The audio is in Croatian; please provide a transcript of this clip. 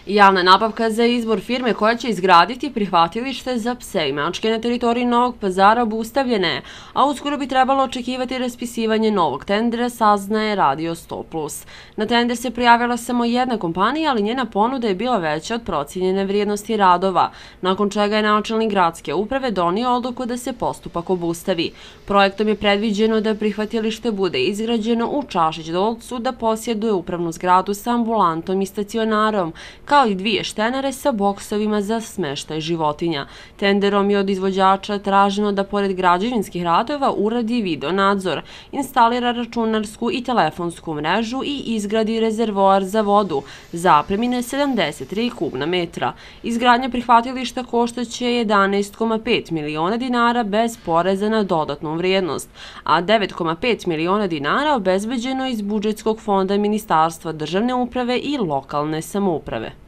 Javna nabavka za izbor firme koja će izgraditi prihvatilište za pse i mačke na teritoriji Novog Pazara obustavljena je, a uskoro bi trebalo očekivati raspisivanje novog tendera, saznaje Radio 100+. Na tender se prijavila samo jedna kompanija, ali njena ponuda je bila veća od procijenjene vrijednosti radova, nakon čega je načelnik gradske uprave donio odluku da se postupak obustavi. Projektom je predviđeno da prihvatilište bude izgrađeno u Čašić-Dolcu, da posjeduje upravnu zgradu sa ambulantom i stacionarom, kao i 2 štenere sa boksovima za smeštaj životinja. Tenderom je od izvođača traženo da pored građevinskih radova uradi video nadzor, instalira računarsku i telefonsku mrežu i izgradi rezervoar za vodu zapremine 73 kubna metra. Izgradnja prihvatilišta koštaće 11,5 miliona dinara bez poreza na dodatnu vrijednost, a 9,5 miliona dinara obezbeđeno iz budžetskog fonda Ministarstva državne uprave i lokalne samouprave.